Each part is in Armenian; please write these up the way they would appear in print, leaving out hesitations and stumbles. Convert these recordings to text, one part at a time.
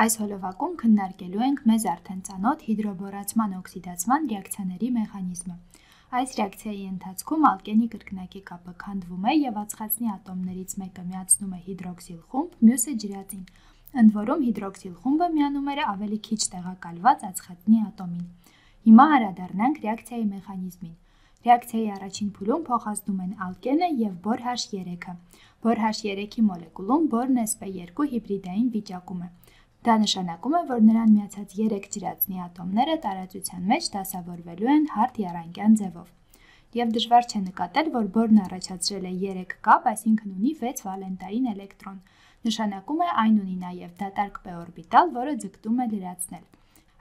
Այս հոլովակում քննարկելու ենք մեզ արդեն ծանոթ հիդրոբորացման օքսիդացման ռեակցիաների մեխանիզմը։ Այս ռեակցիայի ընթացքում ալկենի կրկնակի կապը քանդվում է և ածխածնի ատոմներից մեկը միացնում է հիդրոքսիլ խումբ, մյուսը ջրածին, ընդ որում հիդրոքսիլ խումբը միանում է ավելի քիչ տեղակալված ածխածնի ատոմին։ Հիմա անդրադառնանք ռեակցիայի մեխանիզմին։ Ռեակցիայի առաջին փուլում փոխազդում են ալկենը և բոր H3-ը։ Բոր H3-ի մոլեկուլում բորն sp2 հիբրիդային վիճակում է։ Դա նշանակում է, որ նրան միացած 3 ջրածնի ատոմները տարածության մեջ դասավորվելու են հարթ եռանկյան ձևով։ Եվ դժվար չէ նկատել, որ բորն առաջացրել է 3 կապ, այսինքն ունի 6 վալենտային էլեկտրոն։ Նշանակում է այն ունի նաև դատարկ p օրբիտալ, որը ձգտում է լրացնել։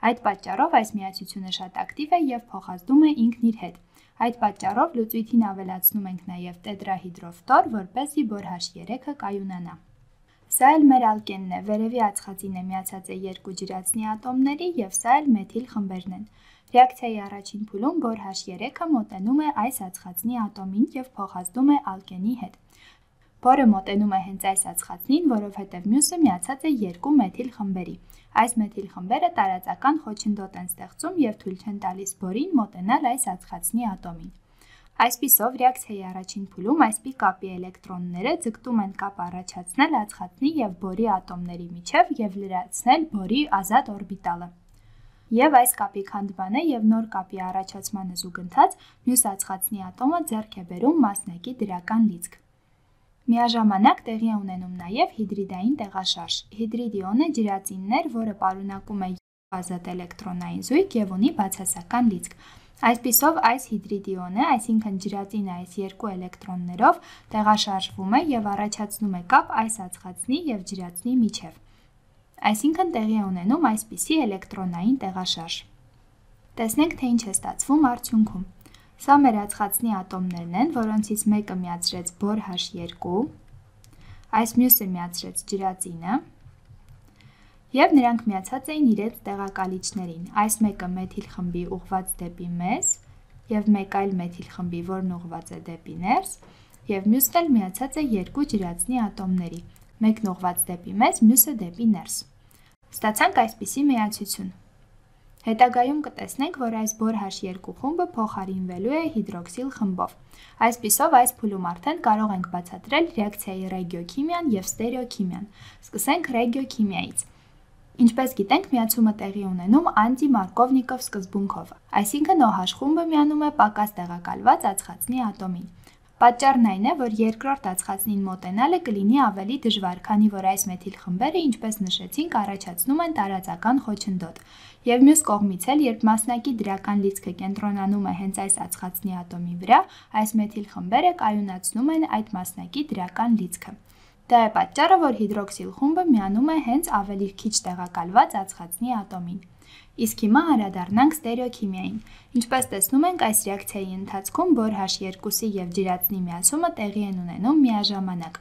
Այդ պատճառով այս միացությունը շատ ակտիվ է և փոխազդում է ինքն իր հետ։ Այդ պատճառով լուծույթին ավելացնում ենք նաև տետրահիդրոֆտոր, որպեսզի բոր H3-ը կայունանա։ Սա էլ մեր ալկենն է, վերևի ածխածինը միացած է 2 ջրածնի ատոմների և սա էլ մեթիլ խմբերն են։ Ռեակցիայի առաջին փուլում բոր H3-ը մոտենում է այս ածխածնի ատոմին և փոխազդում է ալկենի հետ։ Բորը մոտենում է հենց այս ածխածնին, որովհետև մյուսը միացած է 2 մեթիլ խմբերի։ Այս մեթիլ խմբերը տարածական խոչընդոտ են ստեղծում և թույլ չեն տալիս բորին մոտենալ այս ածխածնի ատոմին։ Այսպիսով, ռեակցիայի առաջին փուլում այսպիսի կապի էլեկտրոնները ձգտում են կապ առաջացնել ածխածնի և բորի ատոմների միջև և լրացնել բորի ազատ օրբիտալը։ Եվ այս կապի քանդմանը և նոր կապի առաջացմանը զուգընթաց մյուս ածխածնի ատոմը ձեռք է բերում մասնակի դրական լիցք։ Միաժամանակ տեղի է ունենում նաև հիդրիդային տեղաշարժ։ Հիդրիդ իոնը ջրածինն էր, որը պարունակում է ազատ էլեկտրոնային զույգ և ունի բացասական լիցք։ Այսպիսով, այս հիդրիդ իոնը, այսինքն ջրածինը այս 2 էլեկտրոններով տեղաշարժվում է և առաջացնում է կապ այս ածխածնի և ջրածնի միջև։ Այսինքն տեղի է ունենում այսպիսի էլեկտրոնային տեղաշարժ։ Տեսնենք, թե ինչ է ստացվում արդյունքում։ Սա մեր ածխածնի ատոմներն են, որոնցից մեկը միացրեց բոր H2, այս մյուսը միացրեց ջրածինը, և նրանք միացած էին իրենց տեղակալիչներին։ Այս մեկը մեթիլ խմբի ուղղված դեպի մեզ, և մեկ այլ մեթիլ խմբի, որն ուղղված է դեպի ներս, և մյուսն էլ միացած է 2 ջրածնի ատոմների, մեկն ուղղված դեպի մեզ, մյուսը դեպի ներս։ Ստացանք այսպիսի միացություն։ Հետագայում կտեսնենք, որ այս բոր H2 խումբը փոխարինվելու է հիդրոքսիլ խմբով։ Այսպիսով, այս փուլում արդեն կարող ենք բացատրել ռեակցիայի ռեգիոքիմիան և ստերեոքիմիան։ Սկսենք ռեգիոքիմիայից։ Ինչպես գիտենք, միացումը տեղի ունենում անտի-Մարկովնիկով սկզբունքով, այսինքն OH խումբը միանում է պակաս տեղակալված ածխածնի ատոմին։ Պատճառն այն է, որ երկրորդ ածխածնին մոտենալը կլինի ավելի դժվար, քանի որ այս մեթիլ խմբերը, ինչպես նշեցինք, առաջացնում են տարածական խոչընդոտ։ Եվ մյուս կողմից էլ, երբ մասնակի դրական լիցքը կենտրոնանում է հենց այս ածխածնի ատոմի վրա, այս մեթիլ խմբերը կայունացնում են այդ մասնակի դրական լիցքը։ Դա է պատճառը, որ հիդրոքսիլ խումբը միանում է հենց ավելի քիչ տեղակալված ածխածնի ատոմին։ Իսկ հիմա անդրադառնանք ստերեոքիմիային։ Ինչպես տեսնում ենք, այս ռեակցիայի ընթացքում բոր H2-ի և ջրածնի միացումը տեղի են ունենում միաժամանակ։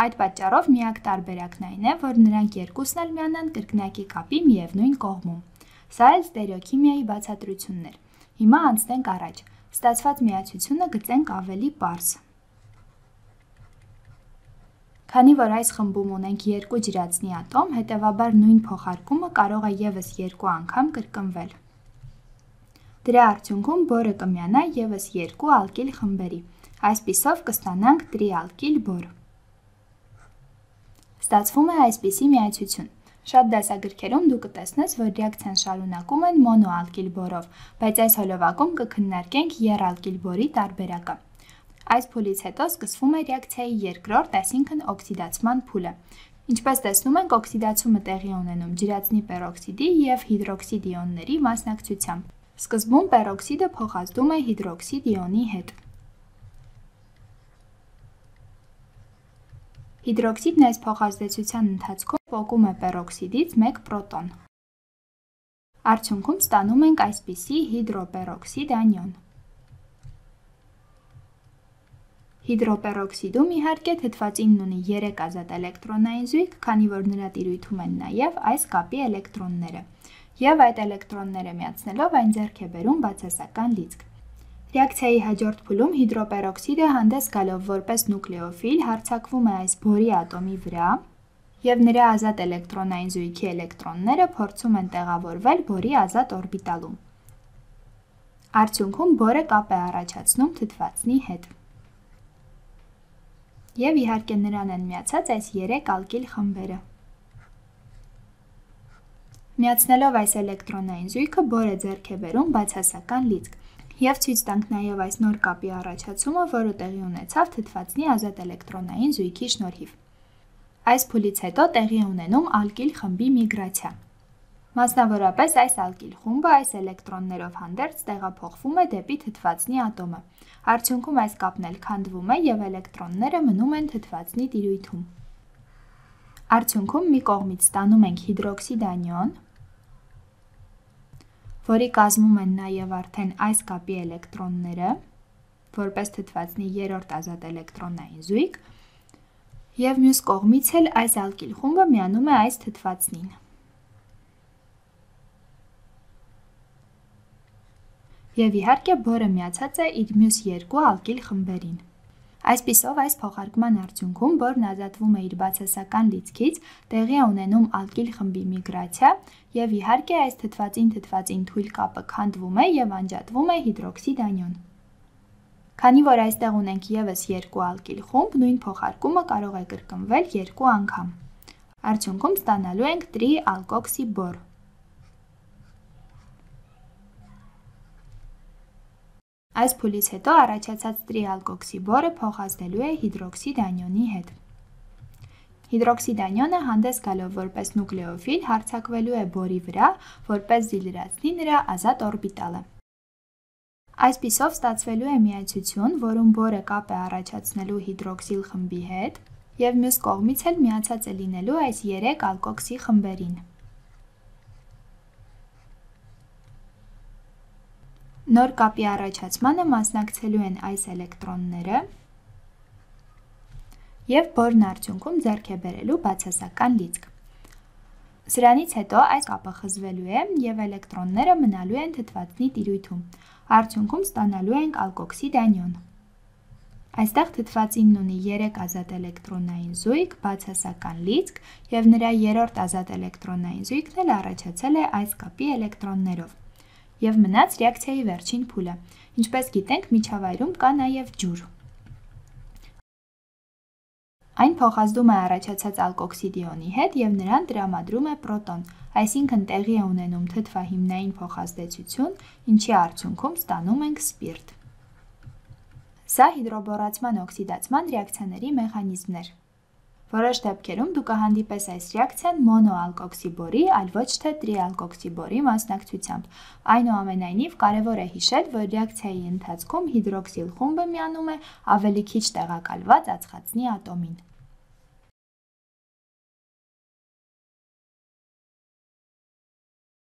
Այդ պատճառով միակ տարբերակն այն է, որ նրանք երկուսն էլ միանան կրկնակի կապի միևնույն կողմում։ Սա էլ ստերեոքիմիայի բացատրությունն էր։ Հիմա անցնենք առաջ։ Ստացված միացությունը գծենք ավելի պարզ։ Քանի որ այս խմբում ունենք 2 ջրածնի ատոմ, հետևաբար նույն փոխարկումը կարող է ևս 2 անգամ կրկնվել։ Դրա արդյունքում բորը կմիանա ևս 2 ալկիլ խմբերի։ Այսպիսով կստանանք տրիալկիլ բոր։ Ստացվում է այսպիսի միացություն։ Շատ դասագրքերում դու կտեսնես, որ ռեակցիան շարունակում են մոնոալկիլ բորով, բայց այս հոլովակում կքննարկենք եռալկիլ բորի տարբերակը։ Այս փուլից հետո սկսվում է ռեակցիայի երկրորդ, այսինքն օքսիդացման փուլը։ Ինչպես տեսնում ենք, օքսիդացումը տեղի է ունենում ջրածնի պերօքսիդի և հիդրոքսիդ իոնների մասնակցությամբ։ Սկզբում պերօքսիդը փոխազդում է հիդրոքսիդ իոնի հետ։ Հիդրոքսիդն այս փոխազդեցության ընթացքում պոկում է պերօքսիդից 1 պրոտոն։ Արդյունքում ստանում ենք այսպիսի հիդրոպերօքսիդ անիոն։ Հիդրոպերօքսիդում, իհարկե, թթվածինն ունի 3 ազատ էլեկտրոնային զույգ, քանի որ նրա տիրույթում են նաև այս կապի էլեկտրոնները, և այդ էլեկտրոնները միացնելով այն ձեռք է բերում բացասական լիցք։ Ռեակցիայի հաջորդ փուլում հիդրոպերօքսիդը հանդես գալով որպես նուկլեոֆիլ հարձակվում է այս բորի ատոմի վրա եւ նրա ազատ էլեկտրոնային զույգի էլեկտրոնները փորձում են տեղավորվել բորի ազատ օրբիտալում։ Արդյունքում բորը կապ է առաջացնում թթվածնի հետ։ Եվ իհարկե նրան են միացած այս 3 ալկիլ խմբերը։ Միացնելով այս էլեկտրոնային զույգը բորը ձեռք է բերում բացասական լիցք։ Եվ ցույց տանք նաև այս նոր կապի առաջացումը, որը տեղի ունեցավ թթվածնի ազատ էլեկտրոնային զույգի շնորհիվ։ Այս փուլից հետո տեղի ունենում ալկիլ խմբի միգրացիա։ Մասնավորապես այս ալկիլ խումբը այս էլեկտրոններով հանդերձ տեղափոխվում է դեպի թթվածնի ատոմը։ Արդյունքում այս կապն էլ քանդվում է եւ էլեկտրոնները մնում են թթվածնի տիրույթում։ Արդյունքում մի կողմից ստանում ենք հիդրոքսիդ անիոն, որի կազմում են նաև արդեն այս կապի էլեկտրոնները, որպես թթվածնի երրորդ ազատ էլեկտրոնային զույգ, եւ մյուս կողմից էլ այս ալկիլ խումբը միանում է այս թթվածնին։ Եվ իհարկե բորը միացած է իր մյուս 2 ալկիլ խմբերին։ Այսպիսով այս փոխարկման արդյունքում բորն ազատվում է իր բացասական լիցքից, տեղի է ունենում ալկիլ խմբի միգրացիա եւ իհարկե այս թթվածին թույլ կապը քանդվում է եւ անջատվում է հիդրոքսիդ անիոն։ Քանի որ այստեղ ունենք եւս 2 ալկիլ խումբ, նույն փոխարկումը կարող է կրկնվել 2 անգամ։ Արդյունքում ստանալու ենք տրիալկոքսի բոր։ Այս փուլից հետո առաջացած տրիալկոքսի բորը փոխազդելու է հիդրոքսիդ անիոնի հետ։ Հիդրոքսիդ անիոնը հանդես գալով որպես նուկլեոֆիլ հարձակվելու է բորի վրա, որպեսզի լրացնի նրա ազատ օրբիտալը։ Այսպիսով ստացվելու է միացություն, որում բորը կապ է առաջացնելու հիդրոքսիլ խմբի հետ եւ մյուս կողմից էլ միացած է լինելու այս 3 ալկոքսի խմբերին։ Նոր կապի առաջացմանը մասնակցելու են այս էլեկտրոնները եւ բորն արդյունքում ձեռք է բերելու բացասական լիցք։ Սրանից հետո այս կապը խզվելու է եւ էլեկտրոնները մնալու են թթվածնի տիրույթում։ Արդյունքում ստանալու ենք ալկոքսիդ անիոն։ Այստեղ թթվածինն ունի 3 ազատ էլեկտրոնային զույգ, բացասական լիցք եւ նրա երրորդ ազատ էլեկտրոնային զույգն էլ առաջացել է այս կապի էլեկտրոններով։ Եվ մնաց ռեակցիայի վերջին փուլը։ Ինչպես գիտենք, միջավայրում կա նաև ջուր։ Այն փոխազդում է առաջացած ալկոքսիդ իոնի հետ եւ նրան տրամադրում է պրոտոն, այսինքն տեղի է ունենում թթվահիմնային փոխազդեցություն, ինչի արդյունքում ստանում ենք սպիրտ։ Սա հիդրոբորացման օքսիդացման ռեակցիաների մեխանիզմն էր։ Որոշ դեպքերում դու կհանդիպես այս ռեակցիան մոնոալկոքսի բորի, այլ ոչ թե տրիալկոքսի բորի մասնակցությամբ։ Այնուամենայնիվ, կարևոր է հիշել, որ ռեակցիայի ընթացքում հիդրոքսիլ խումբը միանում է ավելի քիչ տեղակալված ածխածնի ատոմին։